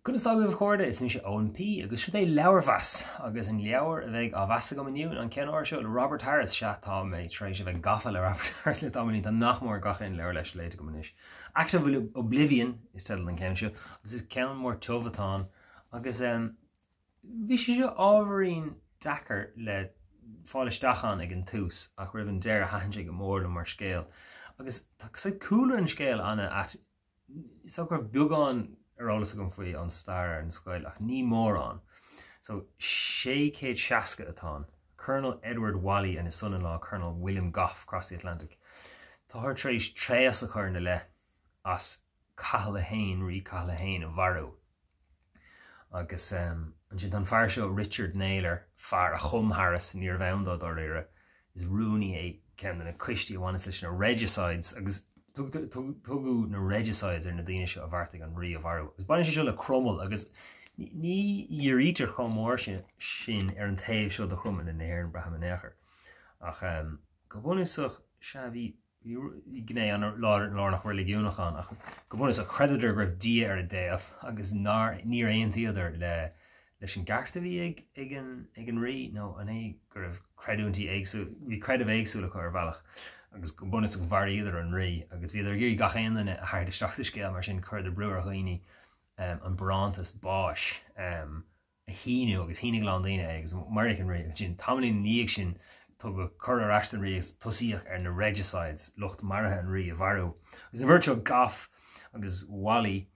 Conas tá agaibh a chairde, is mise Eoin P agus seo é Leabharmheas agus an leabhar a bheidh á mheas agam inniu an ceann áirithe seo le Robert Harris, sea tá mé tar éis a bheith gafa le Robert Harris le tamaillín, tá nach mór gach aon leabhar leis léite agam anois. Act of Oblivion is teideal an ceann seo agus is ceann mór tiubh atá ann agus bhí sé seo ábhairín deacair le fáil isteach ann ag an tús ach roimh an deireadh thaitin sé go mór liom mar scéal agus tá cúlra an scéil an-ait Is dócha go raibh beagán ar eolas agam faoi ón stair ar an scoil ach ní mórán. So, 660 atá ann. Colonel Edward Whalley and his son-in-law Colonel William Goffe cross the Atlantic. Táthar tar éis tréas a chur ina leith as Cathal a hAon, Rí Cathal a hAon a mharú. Agus ansin tá an fear seo, Richard Naylor, fear a chum Harris, níorbh ann dó dáiríre, is rúnaí é ceann de na coistí a bhaineas leis na Regicides agus tugadh na Regicides ar na daoine seo a bheartaigh an rí a mharú. Agus baineann sé seo le Cromail agus ní dhírítear chomh mór sin ar an taobh seo de Chromail in Éirinn, braithim in aon chor. Ach go bunúsach, sea, bhí Bhí gné an-lárnach reiligiúnach ann, ach go bunúsach chreideadar go raibh Dia ar a dtaobh agus nár, níor aontaíodar le, leis an gceart a bhí ag, ag an, ag an rí, nó an é go raibh creidiúintí éagsúil, bhí creideamh éagsúil acu ar bhealach agus go bunúsach mharaíodar an rí agus bhíodar ag iarraidh gach aon duine a tharraingt isteach sa scéal mar sin chuireadar brú ar dhaoine an barántas báis a shíniú agus shínigh a lán daoine é agus maraíodh an rí. Ansin, tamaillín ina dhiaidh sin, tugadh cuireadh ar ais don rí agus tosaíodh ar na regicides, lucht maraithe an rí a mharú. Agus an bheirt seo, Goffe agus Whalley,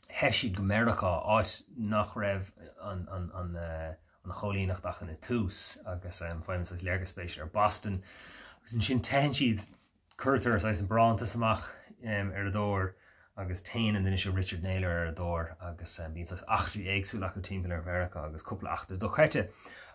theith siad go Meiriceá, áit nach raibh an an choilíneacht ach ina tús agus faigheann saghas léargas spéisiúil ar Boston. Agus ansin teitheann siad Cuirtear saghas barántas amach ar a dtóir agus téann an duine seo Richard Naylor ar a dtóir agus bíonn saghas eachtraí éagsúla acu timpeall ar Mheiriceá agus cúpla eachtra dochreidte.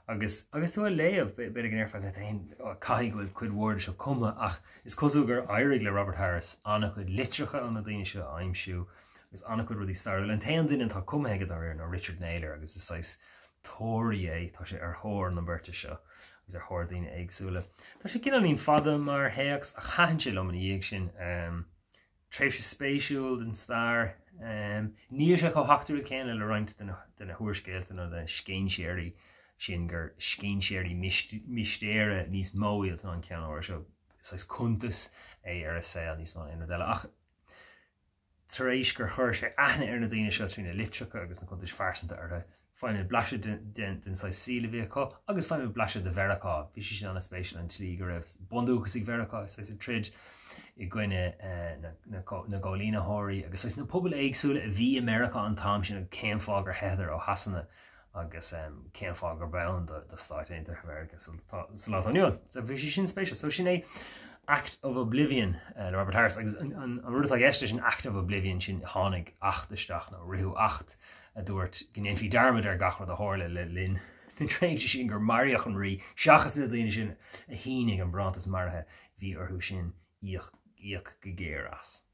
Agus agus tú á léamh, b'fhéidir go ndéarfá leat féin, caithfidh go bhfuil cuid mhór de seo cumtha ach is cosúil gur éirigh le Robert Harris an-chuid litreacha ó na daoine seo a aimsiú agus an-chuid rudaí stairiúla. An t-aon duine atá cumtha aige dáiríre ná Richard Naylor agus is saghas tóraí é, tá sé ar thóir na beirte seo agus ar thóir daoine éagsúla. Tá sé cineáilín fada mar théacs ach thaitin sé liom ina dhiaidh sin. Tréimhse spéisiúil den stair. Níl sé chomh heachtrúil céanna le roinnt de na húrscéalta nó de na scéinséirí sin gur scéinséirí mistéire níos mó iad ná an ceann áirithe seo. Saghas cuntas é ar a saol níos mó ná aon rud eile. Ach Tar éis gur chuir sé aithne ar na daoine seo trí na litreacha agus na cuntais phearsanta orthu, faighimid blaiseadh den saghas saoil a bhí acu agus faighimid blaiseadh de Mheiriceá. Bhí sé sin an-spéisiúil, an tslí go raibh bundúchasaigh Mheiriceá saghas ag troid i gcoinne na gcoilínitheoirí agus saghas na pobail éagsúla a bhí i Meiriceá an t-am sin agus cén fáth gur theitheadar ó Shasana agus cén fáth gurb ann do Stáit Aontaithe Mheiriceá sa lá atá inniu ann. So bhí sé sin spéisiúil. So sin é Act of Oblivion le Robert Harris agus an rud atá i gceist leis an Act of Oblivion sin tháinig acht isteach nó ritheadh acht a dúirt go ndéanfaí dearmad ar gach rud a tharla le linn na tréimhse sin gur maraíodh an rí seachas na daoine sin a shínigh an barántas maraithe bhí orthu sin íoc go géar as.